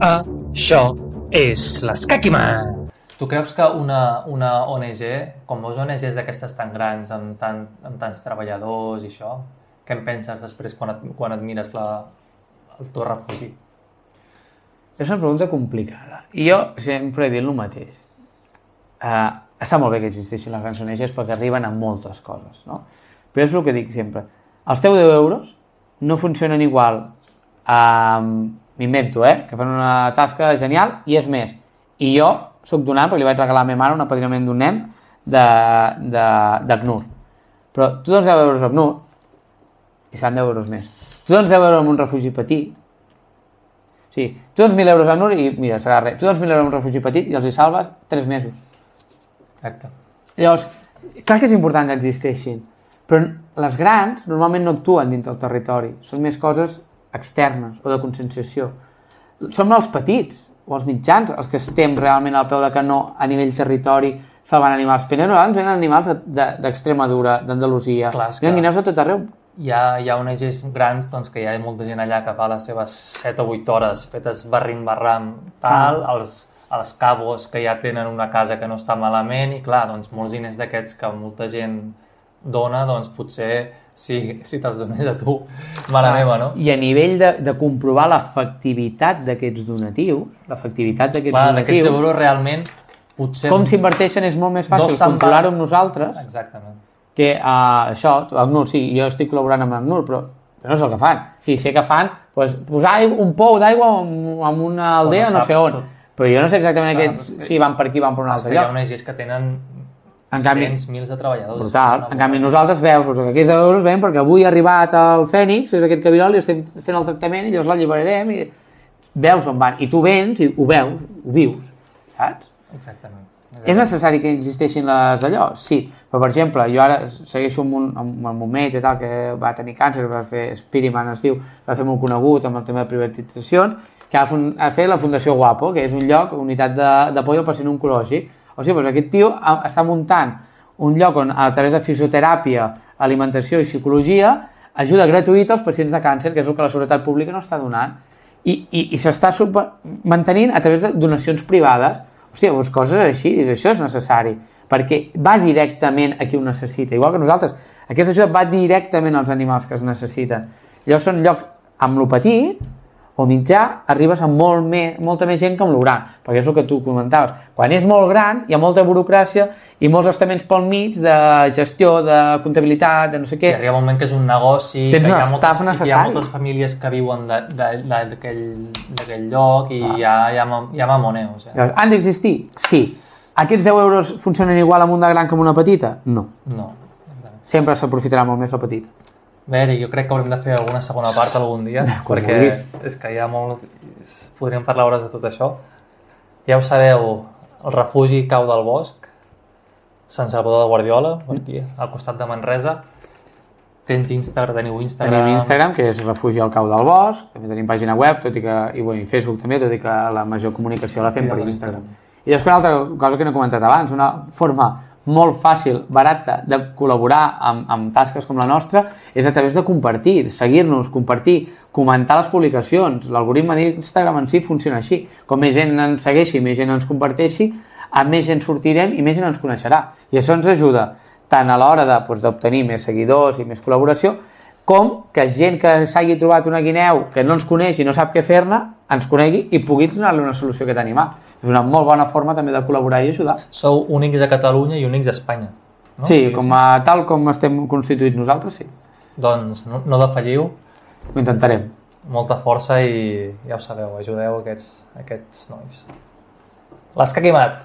Això és l'Escaquimat. Tu creus que una ONG, com veus ONGs d'aquestes tan grans, amb tants treballadors i això, què en penses després quan et mires el teu refugi? És una pregunta complicada. I jo sempre he dit el mateix. Està molt bé que existeixin les grans ONGs perquè arriben a moltes coses, no? Però és el que dic sempre. Els teus 10 euros no funcionen igual, m'invento, que fan una tasca genial i és més. I jo soc donant perquè li vaig regalar a la meva mare un apadrinament d'un nen d'ACNUR. Però tu dones 10 euros a ACNUR i seran 10 euros més. Tu dones 10 euros a un refugi petit, sí, tu dones 1.000 euros a ACNUR i mira, serà res. Tu dones 1.000 euros a un refugi petit i els hi salves 3 mesos. Exacte. Llavors, clar que és important que existeixin, però les grans normalment no actuen dins del territori, són més coses externes o de conscienciació. Som els petits o els mitjans els que estem realment al peu de canó a nivell territori salvant animals. Però nosaltres venen animals d'Extremadura, d'Andalusia, venen guineus de tot arreu. Hi ha ONGs grans que hi ha molta gent allà que fa les seves 7 o 8 hores fetes barrim-barram, els cabos que ja tenen una casa que no està malament i clar, molts diners d'aquests que molta gent dona, potser si te'ls donés a tu, mare meva, no? I a nivell de comprovar l'efectivitat d'aquests donatius, d'aquests euros realment, potser... Com s'inverteixen és molt més fàcil controlar-ho amb nosaltres. Exactament. Que això, ACNUR, sí, jo estic col·laborant amb ACNUR, però no és el que fan. Sí, sé que fan posar un pou d'aigua en una aldea no sé on, però jo no sé exactament si van per aquí o van per un altre lloc. Hi ha ONGs que tenen cents, mils de treballadors. Brutal. En canvi, nosaltres veus que aquests euros ven perquè avui ha arribat el Fènix, és aquest cabirol, i estem fent el tractament i llavors l'alliberarem i veus on van. I tu vens i ho veus, ho vius, saps? Exactament. És necessari que existeixin les d'allò? Sí. Però, per exemple, jo ara segueixo amb un metge tal, que va tenir càncer, va fer Spiriman, es diu, va fer molt conegut amb el tema de privatitzacions, que ha fet la Fundació Guapo, que és un lloc, unitat d'apoyo al pacient oncològic. O sigui, doncs aquest tio està muntant un lloc on, a través de fisioteràpia, alimentació i psicologia, ajuda gratuïta als pacients de càncer, que és el que la seguretat pública no està donant. I s'està mantenint a través de donacions privades. Hòstia, doncs coses així, això és necessari, perquè va directament a qui ho necessita. Igual que nosaltres, aquesta ajuda va directament als animals que es necessiten. Llavors són llocs amb lo petit o mitjà, arribes a molta més gent que amb lo gran, perquè és el que tu comentaves. Quan és molt gran, hi ha molta burocràcia i molts estaments pel mig de gestió, de comptabilitat, de no sé què. I arriba un moment que és un negoci, que hi ha moltes famílies que viuen d'aquell lloc i hi ha mamoneo. Han d'existir? Sí. Aquests 10 euros funcionen igual amb una gran que amb una petita? No. Sempre s'aprofitarà molt més la petita. Bé, Eric, jo crec que haurem de fer alguna segona part algun dia, perquè és que hi ha molts... Podríem parlar hores de tot això. Ja ho sabeu, el refugi Cau del Bosc, Sant Salvador de Guardiola, aquí, al costat de Manresa. Teniu Instagram? Tenim Instagram, que és Refugi al Cau del Bosc, també tenim pàgina web, i Facebook també, tot i que la major comunicació la fem per Instagram. I després una altra cosa que no he comentat abans, una forma molt fàcil, barata, de col·laborar amb tasques com la nostra és a través de compartir, seguir-nos, compartir, comentar les publicacions. L'algoritme d'Instagram en si funciona així. Com més gent ens segueixi, més gent ens comparteixi, amb més gent sortirem i més gent ens coneixerà. I això ens ajuda tant a l'hora d'obtenir més seguidors i més col·laboració, com que gent que s'hagi trobat una guineu que no ens coneix i no sap què fer-ne, ens conegui i pugui donar-li una solució a aquest animal. És una molt bona forma també de col·laborar i ajudar. Sou únics a Catalunya i únics a Espanya, no? Sí, tal com estem constituïts nosaltres, sí. Doncs no defalliu. Ho intentarem. Molta força i ja ho sabeu, ajudeu aquests nois. L'Escaquimat!